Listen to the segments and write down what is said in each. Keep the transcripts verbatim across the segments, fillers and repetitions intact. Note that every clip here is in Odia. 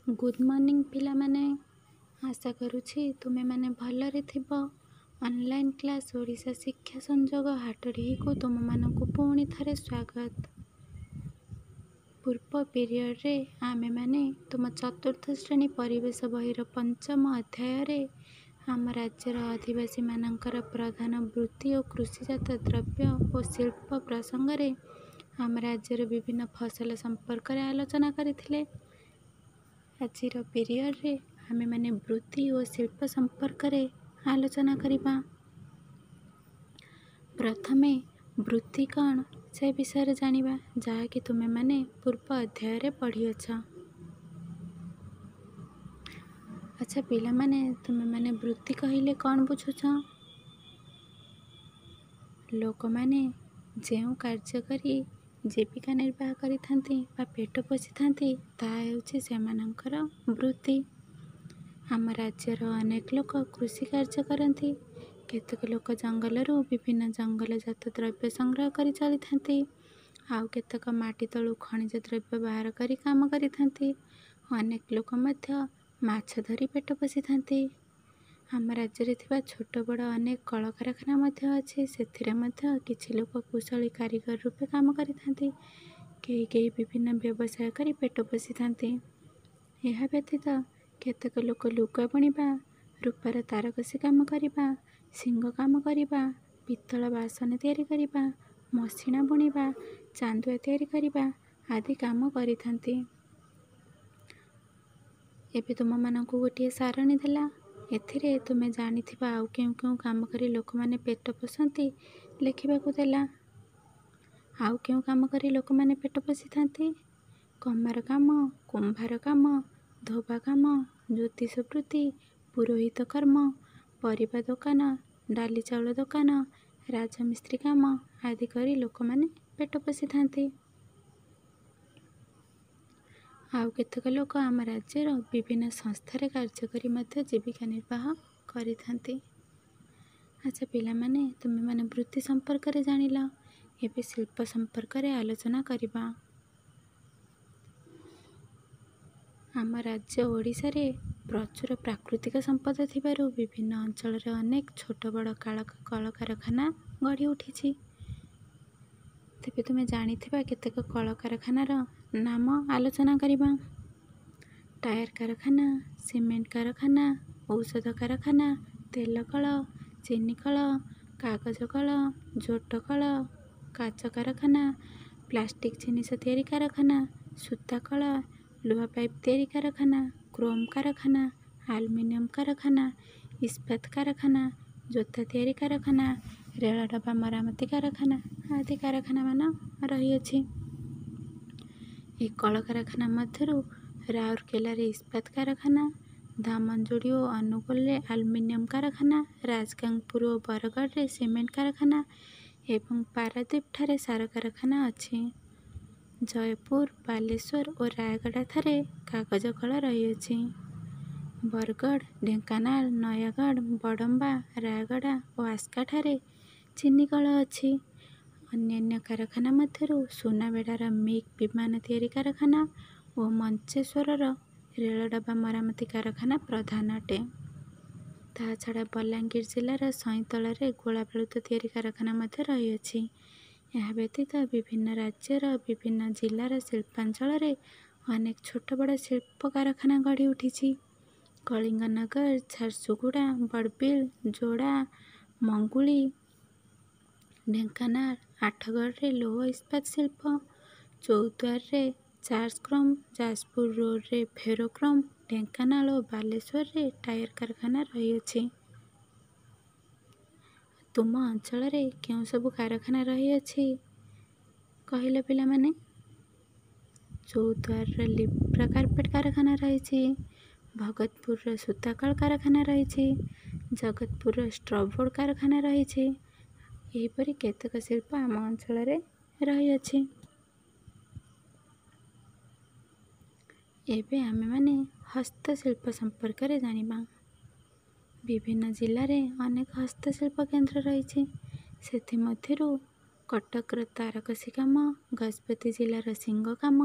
ଗୁଡ଼୍ ମର୍ଣ୍ଣିଂ ପିଲାମାନେ ଆଶା କରୁଛି ତୁମେମାନେ ଭଲରେ ଥିବ ଅନଲାଇନ୍ କ୍ଲାସ୍ ଓଡ଼ିଶା ଶିକ୍ଷା ସଂଯୋଗ ହାଟଡ଼ିହିକୁ ତୁମମାନଙ୍କୁ ପୁଣି ଥରେ ସ୍ୱାଗତ ପୂର୍ବ ପିରିୟଡ଼ରେ ଆମେମାନେ ତୁମ ଚତୁର୍ଥ ଶ୍ରେଣୀ ପରିବେଶ ବହିର ପଞ୍ଚମ ଅଧ୍ୟାୟରେ ଆମ ରାଜ୍ୟର ଅଧିବାସୀମାନଙ୍କର ପ୍ରଧାନ ବୃତ୍ତି ଓ କୃଷିଜାତ ଦ୍ରବ୍ୟ ଓ ଶିଳ୍ପ ପ୍ରସଙ୍ଗରେ ଆମ ରାଜ୍ୟର ବିଭିନ୍ନ ଫସଲ ସମ୍ପର୍କରେ ଆଲୋଚନା କରିଥିଲେ ଆଜିର ପିରିୟଡ଼ରେ ଆମେମାନେ ବୃତ୍ତି ଓ ଶିଳ୍ପ ସମ୍ପର୍କରେ ଆଲୋଚନା କରିବା ପ୍ରଥମେ ବୃତ୍ତି କ'ଣ ସେ ବିଷୟରେ ଜାଣିବା ଯାହାକି ତୁମେମାନେ ପୂର୍ବ ଅଧ୍ୟାୟରେ ପଢ଼ିଅଛ ଆଚ୍ଛା ପିଲାମାନେ ତୁମେମାନେ ବୃତ୍ତି କହିଲେ କ'ଣ ବୁଝୁଛ ଲୋକମାନେ ଯେଉଁ କାର୍ଯ୍ୟ କରି ଜୀବିକା ନିର୍ବାହ କରିଥାନ୍ତି ବା ପେଟ ପୋଷିଥାନ୍ତି ତାହା ହେଉଛି ସେମାନଙ୍କର ବୃତ୍ତି ଆମ ରାଜ୍ୟର ଅନେକ ଲୋକ କୃଷି କାର୍ଯ୍ୟ କରନ୍ତି କେତେକ ଲୋକ ଜଙ୍ଗଲରୁ ବିଭିନ୍ନ ଜଙ୍ଗଲଜାତ ଦ୍ରବ୍ୟ ସଂଗ୍ରହ କରି ଚଳିଥାନ୍ତି ଆଉ କେତେକ ମାଟି ତଳୁ ଖଣିଜ ଦ୍ରବ୍ୟ ବାହାର କରି କାମ କରିଥାନ୍ତି ଅନେକ ଲୋକ ମଧ୍ୟ ମାଛ ଧରି ପେଟ ପୋଷିଥାନ୍ତି ଆମ ରାଜ୍ୟରେ ଥିବା ଛୋଟ ବଡ଼ ଅନେକ କଳକାରଖାନା ମଧ୍ୟ ଅଛି ସେଥିରେ ମଧ୍ୟ କିଛି ଲୋକ କୁଶଳୀ କାରିଗର ରୂପେ କାମ କରିଥାନ୍ତି କେହି କେହି ବିଭିନ୍ନ ବ୍ୟବସାୟ କରି ପେଟ ପୋଷିଥାନ୍ତି ଏହା ବ୍ୟତୀତ କେତେକ ଲୋକ ଲୁଗା ବୁଣିବା ରୂପାର ତାରକସି କାମ କରିବା ଶିଙ୍ଗ କାମ କରିବା ପିତ୍ତଳ ବାସନ ତିଆରି କରିବା ମସିଣା ବୁଣିବା ଚାନ୍ଦୁଆ ତିଆରି କରିବା ଆଦି କାମ କରିଥାନ୍ତି ଏବେ ତୁମମାନଙ୍କୁ ଗୋଟିଏ ସାରଣୀ ଦେଲା ଏଥିରେ ତୁମେ ଜାଣିଥିବା ଆଉ କେଉଁ କେଉଁ କାମ କରି ଲୋକମାନେ ପେଟ ପୋଷନ୍ତି ଲେଖିବାକୁ ଦେଲା ଆଉ କେଉଁ କାମ କରି ଲୋକମାନେ ପେଟ ପୋଷିଥାନ୍ତି କମାର କାମ କୁମ୍ଭାର କାମ ଧୋବା କାମ ଜ୍ୟୋତିଷ ବୃତ୍ତି ପୁରୋହିତ କର୍ମ ପରିବା ଦୋକାନ ଡାଲି ଚାଉଳ ଦୋକାନ ରାଜମିସ୍ତ୍ରୀ କାମ ଆଦି କରି ଲୋକମାନେ ପେଟ ପୋଷିଥାନ୍ତି ଆଉ କେତେକ ଲୋକ ଆମ ରାଜ୍ୟର ବିଭିନ୍ନ ସଂସ୍ଥାରେ କାର୍ଯ୍ୟ କରି ମଧ୍ୟ ଜୀବିକା ନିର୍ବାହ କରିଥାନ୍ତି ଆଚ୍ଛା ପିଲାମାନେ ତୁମେମାନେ ବୃତ୍ତି ସମ୍ପର୍କରେ ଜାଣିଲ ଏବେ ଶିଳ୍ପ ସମ୍ପର୍କରେ ଆଲୋଚନା କରିବା ଆମ ରାଜ୍ୟ ଓଡ଼ିଶାରେ ପ୍ରଚୁର ପ୍ରାକୃତିକ ସମ୍ପଦ ଥିବାରୁ ବିଭିନ୍ନ ଅଞ୍ଚଳରେ ଅନେକ ଛୋଟ ବଡ଼ କଳକାରଖାନା ଗଢ଼ି ଉଠିଛି ତେବେ ତୁମେ ଜାଣିଥିବା କେତେକ କଳକାରଖାନାର ନାମ ଆଲୋଚନା କରିବା ଟାୟାର କାରଖାନା ସିମେଣ୍ଟ କାରଖାନା ଔଷଧ କାରଖାନା ତେଲ କଳ ଚିନି କଳ କାଗଜ କଳ ଝୋଟ କଳ କାଚ କାରଖାନା ପ୍ଲାଷ୍ଟିକ୍ ଜିନିଷ ତିଆରି କାରଖାନା ସୂତା କଳ ଲୁହା ପାଇପ୍ ତିଆରି କାରଖାନା କ୍ରୋମ୍ କାରଖାନା ଆଲୁମିନିୟମ କାରଖାନା ଇସ୍ପାତ କାରଖାନା ଜୋତା ତିଆରି କାରଖାନା ରେଳ ଡବା ମରାମତି କାରଖାନା ଆଦି କାରଖାନାମାନ ରହିଅଛି ଏହି କଳକାରଖାନା ମଧ୍ୟରୁ ରାଉରକେଲାରେ ଇସ୍ପାତ କାରଖାନା ଦାମନଯୋଡ଼ି ଓ ଅନୁଗୋଳରେ ଆଲୁମିନିୟମ କାରଖାନା ରାଜଗାଙ୍ଗପୁର ଓ ବରଗଡ଼ରେ ସିମେଣ୍ଟ କାରଖାନା ଏବଂ ପାରାଦ୍ୱୀପଠାରେ ସାର କାରଖାନା ଅଛି ଜୟପୁର ବାଲେଶ୍ୱର ଓ ରାୟଗଡ଼ାଠାରେ କାଗଜ କଳ ରହିଅଛି ବରଗଡ଼ ଢେଙ୍କାନାଳ ନୟାଗଡ଼ ବଡ଼ମ୍ବା ରାୟଗଡ଼ା ଓ ଆସ୍କାଠାରେ ଚିନି କଳ ଅଛି ଅନ୍ୟାନ୍ୟ କାରଖାନା ମଧ୍ୟରୁ ସୁନାବେଡ଼ାର ମିଗ୍ ବିମାନ ତିଆରି କାରଖାନା ଓ ମଞ୍ଚେଶ୍ୱରର ରେଳ ଡବା ମରାମତି କାରଖାନା ପ୍ରଧାନ ଅଟେ ତାହା ଛଡ଼ା ବଲାଙ୍ଗୀର ଜିଲ୍ଲାର ସଇଁତଳାରେ ଗୋଳା ବାରୁଦ ତିଆରି କାରଖାନା ମଧ୍ୟ ରହିଅଛି ଏହା ବ୍ୟତୀତ ବିଭିନ୍ନ ରାଜ୍ୟର ବିଭିନ୍ନ ଜିଲ୍ଲାର ଶିଳ୍ପାଞ୍ଚଳରେ ଅନେକ ଛୋଟ ବଡ଼ ଶିଳ୍ପ କାରଖାନା ଗଢ଼ି ଉଠିଛି କଳିଙ୍ଗନଗର ଝାରସୁଗୁଡ଼ା ବଡ଼ବିଲ ଯୋଡ଼ା ମଙ୍ଗୁଳି ଢେଙ୍କାନାଳ ଆଠଗଡ଼ରେ ଲୌହ ଇସ୍ପାତ ଶିଳ୍ପ ଚୌଦ୍ୱାରରେ ଚାର୍ଜକ୍ରୋମ୍ ଯାଜପୁର ରୋଡ଼ରେ ଫେରୋକ୍ରୋମ୍ ଢେଙ୍କାନାଳ ଓ ବାଲେଶ୍ୱରରେ ଟାୟାର କାରଖାନା ରହିଅଛି ତୁମ ଅଞ୍ଚଳରେ କେଉଁ ସବୁ କାରଖାନା ରହିଅଛି କହିଲ ପିଲାମାନେ ଚୌଦ୍ୱାରର ଲିପ୍ରା କାର୍ପେଟ କାରଖାନା ରହିଛି ଭଗତପୁରର ସୂତାକଳ କାରଖାନା ରହିଛି ଜଗତପୁରର ଷ୍ଟ୍ରବୋର୍ଡ଼ କାରଖାନା ରହିଛି ଏହିପରି କେତେକ ଶିଳ୍ପ ଆମ ଅଞ୍ଚଳରେ ରହିଅଛି ଏବେ ଆମେମାନେ ହସ୍ତଶିଳ୍ପ ସମ୍ପର୍କରେ ଜାଣିବା ବିଭିନ୍ନ ଜିଲ୍ଲାରେ ଅନେକ ହସ୍ତଶିଳ୍ପ କେନ୍ଦ୍ର ରହିଛି ସେଥିମଧ୍ୟରୁ କଟକର ତାରକସି କାମ ଗଜପତି ଜିଲ୍ଲାର ଶିଙ୍ଗ କାମ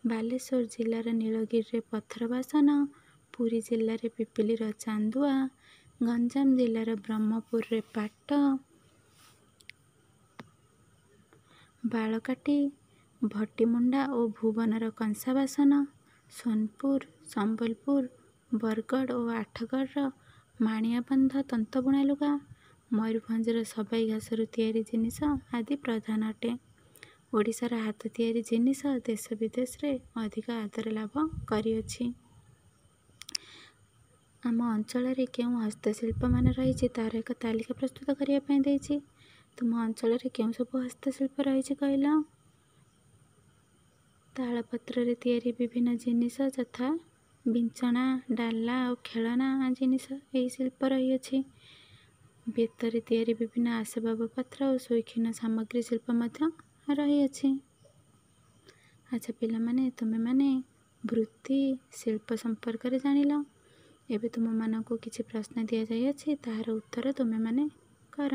ବାଲେଶ୍ୱର ଜିଲ୍ଲାର ନୀଳଗିରିରେ ପଥର ବାସନ, ପୁରୀ ଜିଲ୍ଲାରେ ପିପିଲିର ଚାନ୍ଦୁଆ, ଗଞ୍ଜାମ ଜିଲ୍ଲାର ବ୍ରହ୍ମପୁରରେ ପାଟ, ବାଳକାଟି, ଭଟିମୁଣ୍ଡା ଓ ଭୁବନର କଂସା ବାସନ, ସୋନପୁର, ସମ୍ବଲପୁର, ବରଗଡ଼ ଓ ଆଠଗଡ଼ର ମାଣିଆବନ୍ଧ ତନ୍ତବୁଣା ଲୁଗା, ମୟୂରଭଞ୍ଜର ସବାଇ ଘାସରୁ ତିଆରି ଜିନିଷ ଆଦି ପ୍ରଧାନ ଅଟେ। ଓଡ଼ିଶାର ହାତ ତିଆରି ଜିନିଷ ଦେଶ ବିଦେଶରେ ଅଧିକ ଆଦର ଲାଭ କରିଅଛି। ଆମ ଅଞ୍ଚଳରେ କେଉଁ ହସ୍ତଶିଳ୍ପମାନ ରହିଛି ତାହାର ଏକ ତାଲିକା ପ୍ରସ୍ତୁତ କରିବା ପାଇଁ ଦେଇଛି। ତୁମ ଅଞ୍ଚଳରେ କେଉଁ ସବୁ ହସ୍ତଶିଳ୍ପ ରହିଛି କହିଲ? ତାଳପତ୍ରରେ ତିଆରି ବିଭିନ୍ନ ଜିନିଷ ଯଥା ବିଞ୍ଚଣା, ଡାଲା ଓ ଖେଳନା ଜିନିଷ ଏହି ଶିଳ୍ପ ରହିଅଛି। ବେତରେ ତିଆରି ବିଭିନ୍ନ ଆସବାବପତ୍ର ଓ ସୌଖିନ ସାମଗ୍ରୀ ଶିଳ୍ପ ମଧ୍ୟ ରହିଅଛି। ଆଚ୍ଛା ପିଲାମାନେ, ତୁମେମାନେ ବୃତ୍ତି ଶିଳ୍ପ ସମ୍ପର୍କରେ ଜାଣିଲ। ଏବେ ତୁମମାନଙ୍କୁ କିଛି ପ୍ରଶ୍ନ ଦିଆଯାଇଅଛି, ତାହାର ଉତ୍ତର ତୁମେମାନେ କର।